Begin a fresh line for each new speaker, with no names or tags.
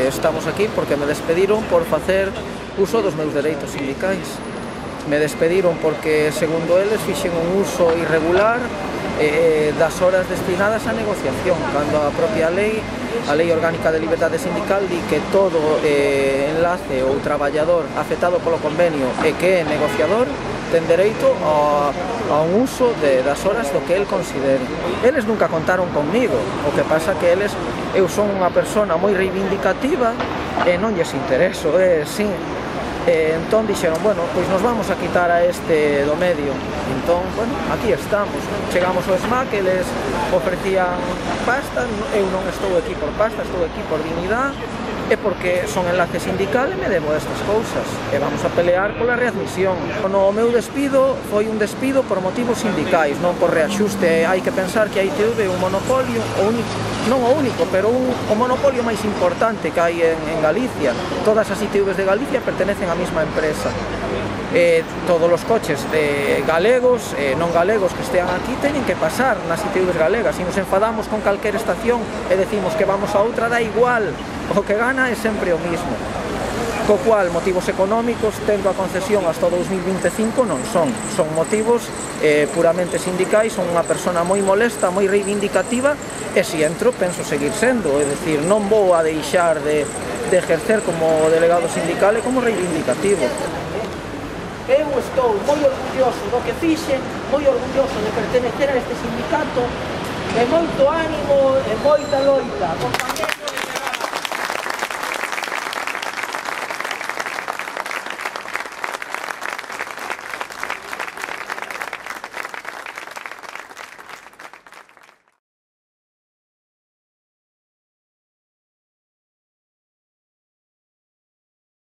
estamos aquí porque me despediron por facer uso dos meus dereitos sindicais. Me despediron porque, segundo eles, fixen un uso irregular das horas destinadas á negociación, cando a propia lei, a Lei Orgánica de Liberdade Sindical, di que todo enlace ou traballador afectado polo convenio e que é negociador ten dereito a un uso das horas do que el considere. Eles nunca contaron conmigo, o que pasa que eu son unha persona moi reivindicativa e non lles intereso, sí. Entón dixeron, bueno, pois nos vamos a quitar a este do medio. Entón, bueno, aquí estamos. Chegamos ao SMAC, eles ofrecían pasta, eu non estou aquí por pasta, estou aquí por dignidade, e porque son enlace sindical e me debo a estas cousas, e vamos a pelear pola readmisión. O meu despido foi un despido por motivos sindicais, non por reaxuste. Hai que pensar que a ITV é un monopolio, non o único, pero o monopolio máis importante que hai en Galicia. Todas as ITVs de Galicia pertenecen á mesma empresa. Todos os coches galegos e non galegos que estean aquí teñen que pasar nas ITVs galegas. Se nos enfadamos con calquera estación e decimos que vamos a outra, dá igual, o que gana é sempre o mismo. Co cual, motivos económicos, tendo a concesión hasta 2025, non son motivos puramente sindicais. Son unha persona moi molesta, moi reivindicativa, e se entro, penso seguir sendo, é dicir, non vou a deixar de ejercer como delegado sindical e como reivindicativo. Eu estou moi orgulloso do que fixen, moi orgulloso de pertenecer a este sindicato, e moito ánimo e moita loita, compañeros.